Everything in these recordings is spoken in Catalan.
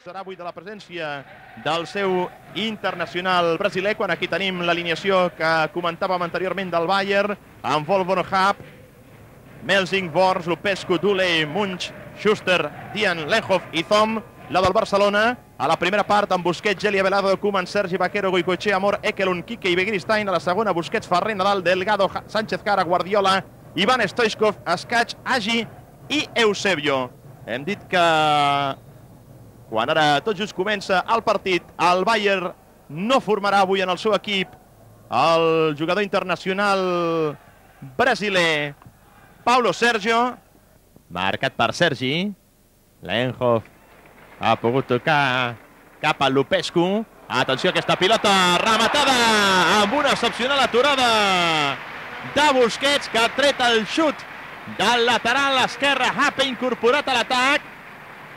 Serà avui de la presència del seu internacional brasiler, quan aquí tenim l'alineació que comentàvem anteriorment del Bayern, amb Volvo Hub, Melsing, Bors, Lupescu, Dule, Munch, Schuster, Dian, Lenhoff i Thom. La del Barcelona, a la primera part amb Busquets, Geli, Avelado, Koeman, Sergi, Vaquero, Goicoechea, Amor, Ekelund, Kike i Begiristain. A la segona, Busquets, Ferrer, Nadal, Delgado, Sánchez Cara, Guardiola, Ivan Stoichkov, Escaig, Agi i Eusebio. Hem dit que quan ara tot just comença el partit, el Bayern no formarà avui en el seu equip el jugador internacional brasiler Paulo Sergio, marcat per Sergi. Lenhoff ha pogut tocar cap a Lupescu. Atenció a aquesta pilota rematada amb una excepcional aturada de Busquets, que ha tret el xut del lateral esquerre. Hape incorporat a l'atac.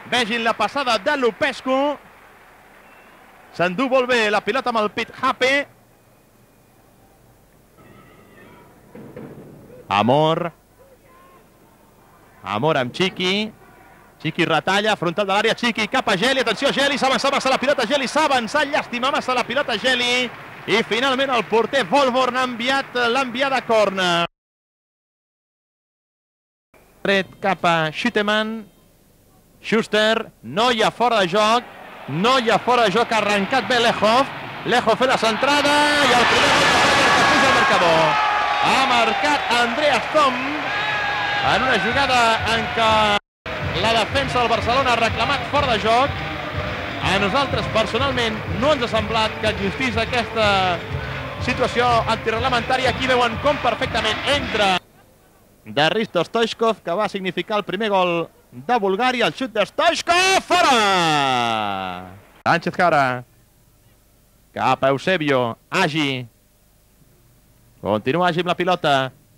Vegin la passada de Lupescu. S'endú molt bé la pilota amb el pit Hape. Amor amb Chiqui. Chiqui retalla, frontal de l'àrea, Chiqui cap a Geli. Atenció, Geli, s'ha avançat massa la pilota, Geli s'ha avançat, llàstima massa la pilota Geli. I finalment el porter Volborn l'ha enviat a córner. Tret cap a Schüttemann. Schuster, no hi ha fora de joc. No hi ha fora de joc, ha arrencat bé Lenhoff. Lenhoff fa la centrada i el primer gol que puja al marcador. Ha marcat Andreas Thom en una jugada en què la defensa del Barcelona ha reclamat fora de joc. A nosaltres, personalment, no ens ha semblat que existís aquesta situació antirreglamentària. Aquí veuen com perfectament entra de Hristo Stoichkov, que va significar el primer gol de Bulgària. El xut de Stoichkov, fora! Sánchez Cara cap a Eusebio, Agi. Continua Agi amb la pilota.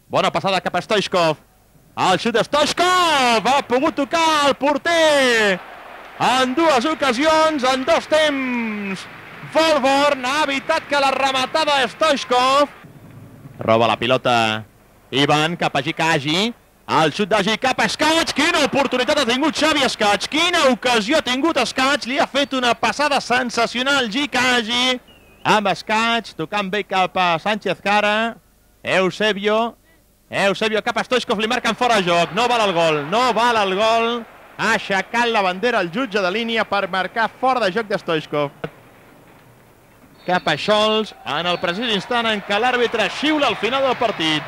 Bona passada cap a Stoichkov. El xut de Stoichkov ha pogut tocar el porter en dues ocasions, en dos temps. Volborn ha evitat que la rematada de Stoichkov. Roba la pilota Ivan cap a Agi. El xut d'Agi cap a Escaig. Quina oportunitat ha tingut Xavi Escaig. Quina ocasió ha tingut Escaig. Li ha fet una passada sensacional Agi. Amb Escaig, tocant bé cap a Sánchez Cara. Eusebio cap a Stoichkov, li marquen fora de joc. No val el gol, no val el gol. Ha aixecat la bandera el jutge de línia per marcar fora de joc de Stoichkov. Cap a Scholz, en el precís instant en què l'àrbitre xiula al final del partit.